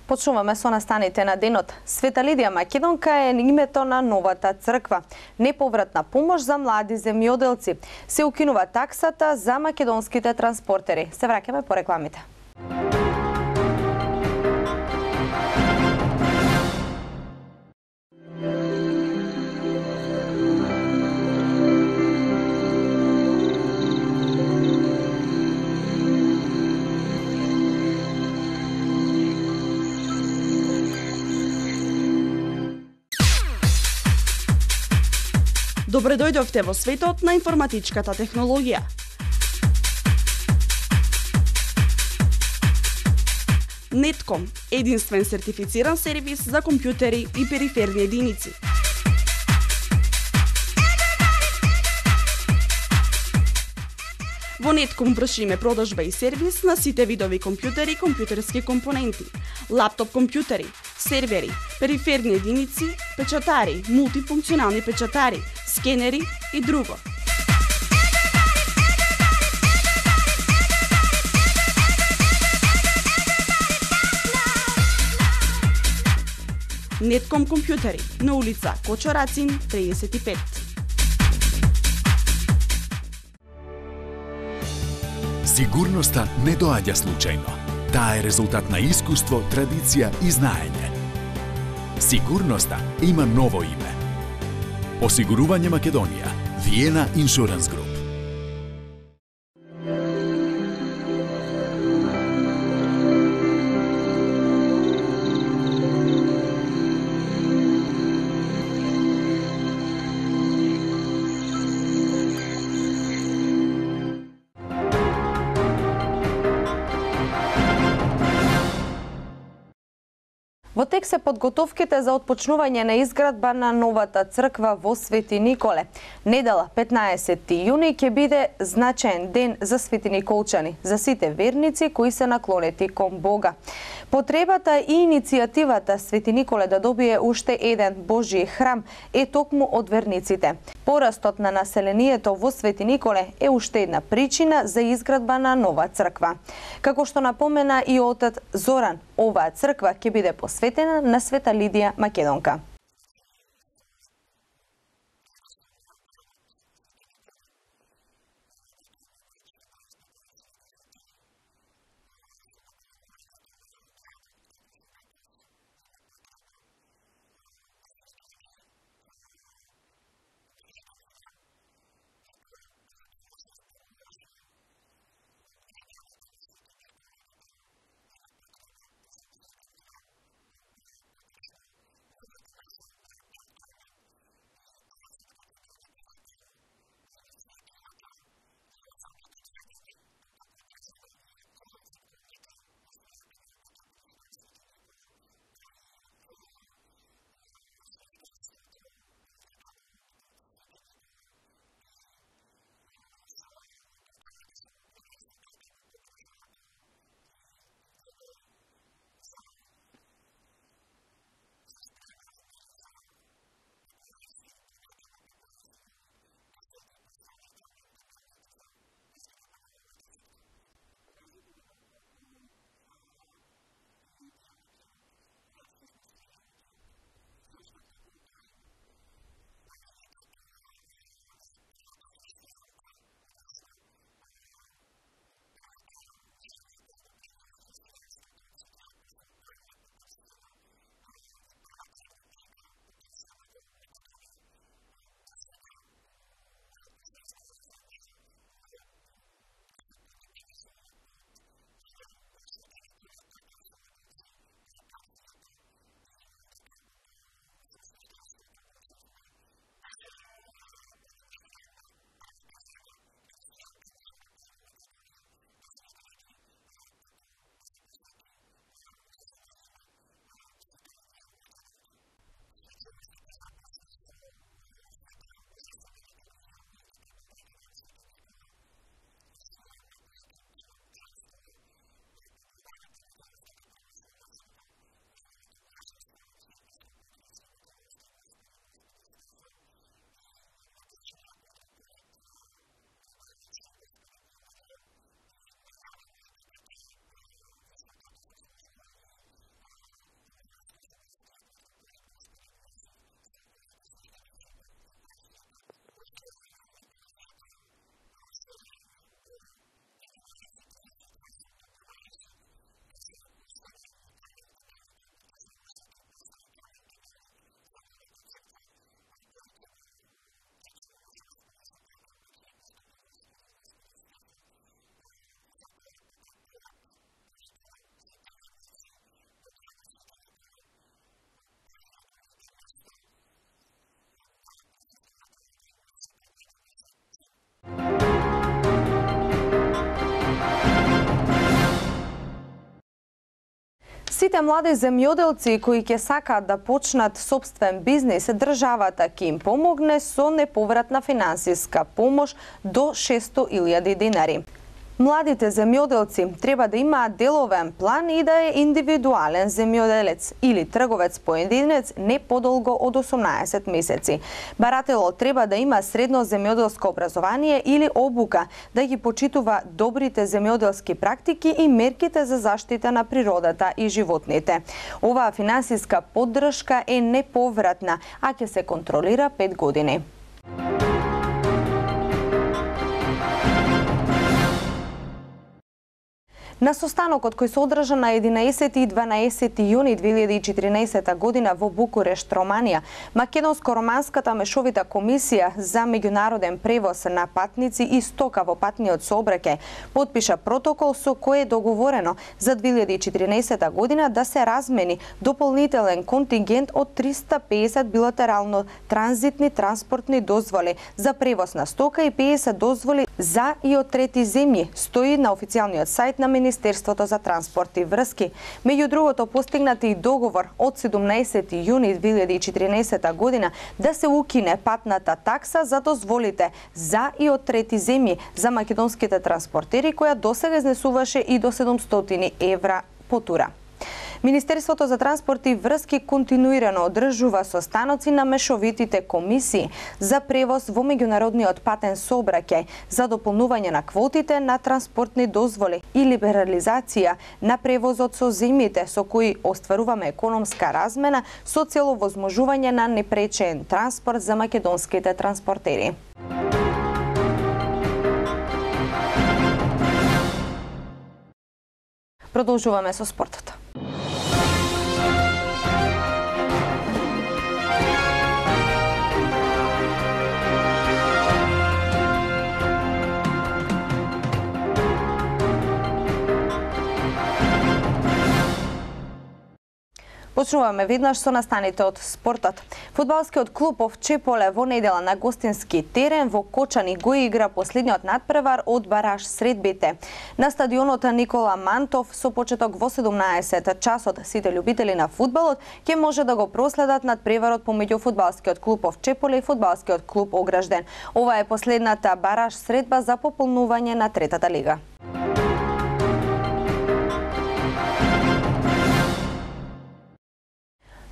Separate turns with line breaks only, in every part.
Почнуваме со настаните на денот. Света Лидија Македонка е името на новата црква. Неповратна помош за млади земјоделци. Се укинува таксата за македонските транспортери. Се враќаме по рекламите.
Добре дојдовте во светот на информатичката технологија. Нетком – единствен сертифициран сервис за компјутери и периферни единици. Во Нетком вршиме продажба и сервис на сите видови компјутери и компјутерски компоненти, лаптоп компјутери, сервери, периферни единици, печатари, мултифункционални печатари, скенери и друго. Нетком компјутери на улица Кочо Рацин 35.
Сигурноста не доаѓа случајно. Таа е резултат на искуство, традиција и знаење. Сигурноста има ново име. Осигурување Македонија. Виена Insurance Group.
Во тек се подготовките за отпочнување на изградба на новата црква во Свети Николе. Недела 15 јуни ќе биде значаен ден за Свети Николчани, за сите верници кои се наклонети кон Бога. Потребата и иницијативата Свети Николе да добие уште еден Божји храм е токму од верниците. Порастот на населението во Свети Николе е уште една причина за изградба на нова црква. Како што напомена и отец Зоран, оваа црква ќе биде посветена на Света Лидија Македонка. Сите млади земјоделци кои ќе сакаат да почнат сопствен бизнис, државата ќе им помогне со неповратна финансиска помош до 600.000 динари. Младите земјоделци треба да имаат деловен план и да е индивидуален земјоделец или трговец поединец не подолго од 18 месеци. Барателот треба да има средно земјоделско образование или обука, да ги почитува добрите земјоделски практики и мерките за заштита на природата и животните. Оваа финансиска поддршка е неповратна, а ќе се контролира 5 години. На состанокот кој се одржа на 11 и 12 јуни 2014 година во Букурешт, Романија, Македонско-романската мешовита комисија за меѓународен превоз на патници и стока во патниот сообраќај потпиша протокол со кој е договорено за 2014 година да се размени дополнителен контингент од 350 билатерално транзитни транспортни дозволи за превоз на стока и 50 дозволи за и од трети земји, стои на официјалниот сајт на Министерството за транспорт и врски. Меѓу другото, постигнати и договор од 17 јуни 2014 година да се укине патната такса за дозволите за и од трети земји за македонските транспортери, која досега изнесуваше и до 700 евра по тура. Министерството за транспорт и врски континуирано одржува состаноци на мешовитите комисии за превоз во меѓународниот патен сообраќај за дополнување на квотите на транспортни дозволи и либерализација на превозот со земјите со кои остваруваме економска размена со цел овозможување на непречен транспорт за македонските транспортери. Продолжуваме со спортот. Почнуваме веднаш со настаните од спортот. Фудбалскиот клуб Овчеполе во недела на гостински терен во Кочани го игра последниот надпревар од бараж средбите. На стадионот Никола Мантов со почеток во 17 часот сите љубители на фудбалот ќе може да го проследат надпреварот помеѓу фудбалскиот клуб Овчеполе и фудбалскиот клуб Огражден. Ова е последната бараж средба за пополнување на третата лига.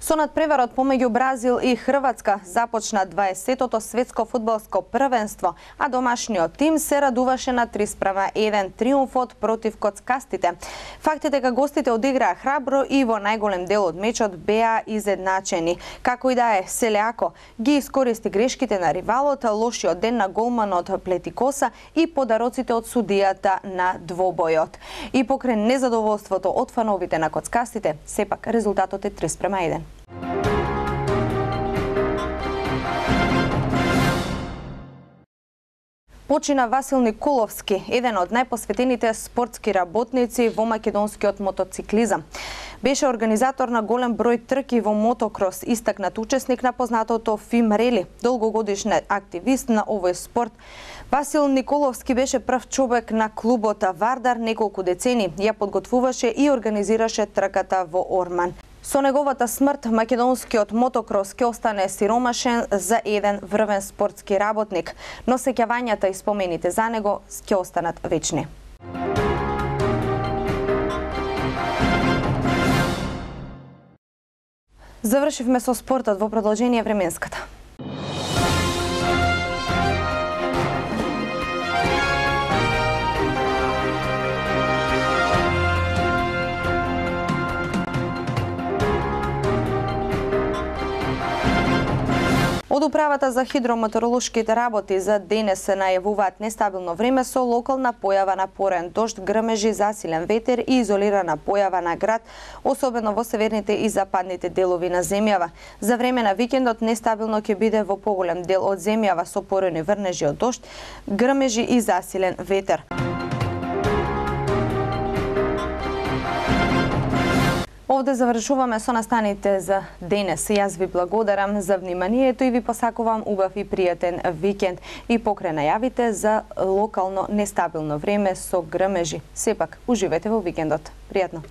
Со надпреварот помеѓу Бразил и Хрватска започна 20-тото светско фудбалско првенство, а домашниот тим се радуваше на 3:1 триумфот против коцкастите. Факт е дека гостите одиграа храбро и во најголем дел од мечот беа изедначени. Како и да е, Селеако ги искористи грешките на ривалот, лошиот ден на голманот Плетикоса и подароците од судијата на двобојот. И покрај незадоволството од фановите на коцкастите, сепак резултатот е 3:1. Почина Васил Николовски, еден од најпосветените спортски работници во македонскиот мотоциклизам. Беше организатор на голем број трки во мотокрос, истакнат учесник на познатото ФИМ Рели, долгогодишен активист на овој спорт. Васил Николовски беше прв човек на клубот Вардар неколку децени, ја подготвуваше и организираше трката во Орман. Со неговата смрт, македонскиот мотокрос ќе остане сиромашен за еден врвен спортски работник, но сеќавањата и спомените за него ќе останат вечни. Завршивме со спортот, во продолжение временската. Од Управата за хидрометеоролошките работи за денес се најавуваат нестабилно време со локална појава на порен дожд, грмежи, засилен ветер и изолирана појава на град, особено во северните и западните делови на земјава. За време на викендот нестабилно ќе биде во поголем дел од земјава со порени врнежи од дожд, грмежи и засилен ветер. Овде завршуваме со настаните за денес. Јас ви благодарам за вниманието и ви посакувам убав и пријатен викенд. И покрај најавите за локално нестабилно време со грмежи. Сепак, уживете во викендот. Пријатно!